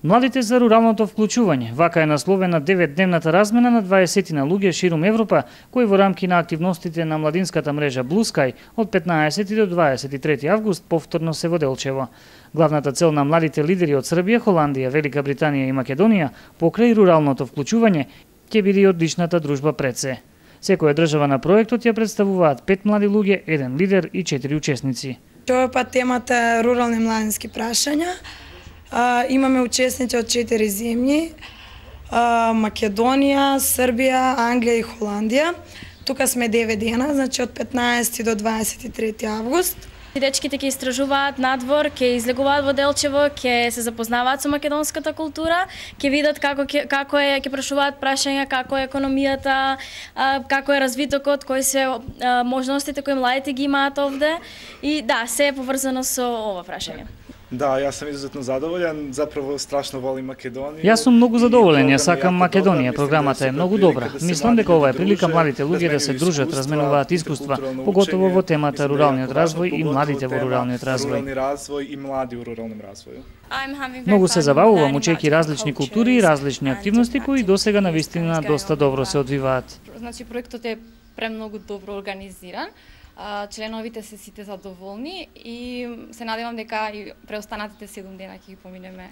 Младите за руралното вклучување. Вака е насловена 9-дневната размена на 20 на луѓе ширум Европа, кои во рамки на активностите на младинската мрежа Blue Sky од 15 до 23 август повторно се во Делчево. Главната цел на младите лидери од Србија, Холандија, Велика Британија и Македонија покрај руралното вклучување ќе биде и одличната дружба пред се. Секоја држава на проектот ја представуваат 5 млади луѓе, 1 лидер и 4 учесници. Ова пат темата е рурални младински прашања. Имаме учесници од 4 земји: Македонија, Србија, Англија и Холандија. Тука сме 9 дена, значи од 15 до 23 август. Дечките ќе истражуваат надвор, ќе излегуваат во Делчево, ќе се запознаваат со македонската култура, ќе видат ќе прашуваат прашања како е економијата, како е развитокот, кои се можностите кои младите ги имаат овде и да, се е поврзано со ова прашање. Да, јас сум изуzetно задоволен, заправо страшно волим Македонија. Јас сум многу задоволен, ја сакам Македонија, програмата е многу добра. Мислам дека ова е прилика младите луѓе да се дружат, разменуваат искуства, поготово во темата руралниот развој и младите во руралниот развој. Рурални развој и млади во руралном развоју. Многу се забавувам учејќи различни култури и различни активности кои досега навистина доста добро се одвиваат. Значи проектот е премногу добро организиран. Членовите се сите задоволни и се надевам дека и преостанатите 7 дена ќе ги поминеме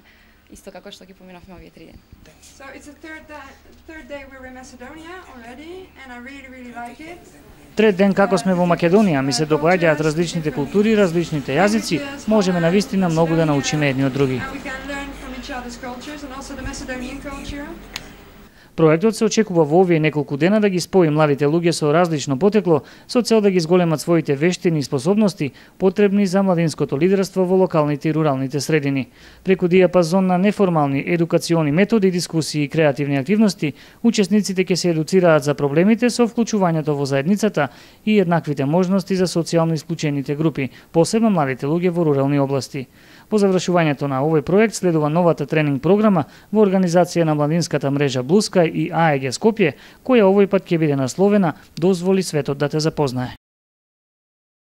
исто како што ги поминавме овие 3 дена. So it's a third day we're in Macedonia already and I really like it. Трет ден како сме во Македонија, ми се доаѓаат различните култури, различните јазици, можеме навистина многу да научиме едни од други. Проектот се очекува во овие неколку дена да ги спои младите луѓе со различно потекло, со цел да ги зголемат своите вештини и способности потребни за младинското лидерство во локалните и руралните средини. Преку диапазон на неформални едукациони методи, дискусии и креативни активности, учесниците ќе се едуцираат за проблемите со вклучувањето во заедницата и еднаквите можности за социјално исклучените групи, посебно младите луѓе во рурални области. По завршувањето на овој проект следува новата тренинг програма во организација на младинската мрежа Blue Sky и АЕГ Скопје, која овој пат ќе биде насловена "Дозволи светот да те запознае".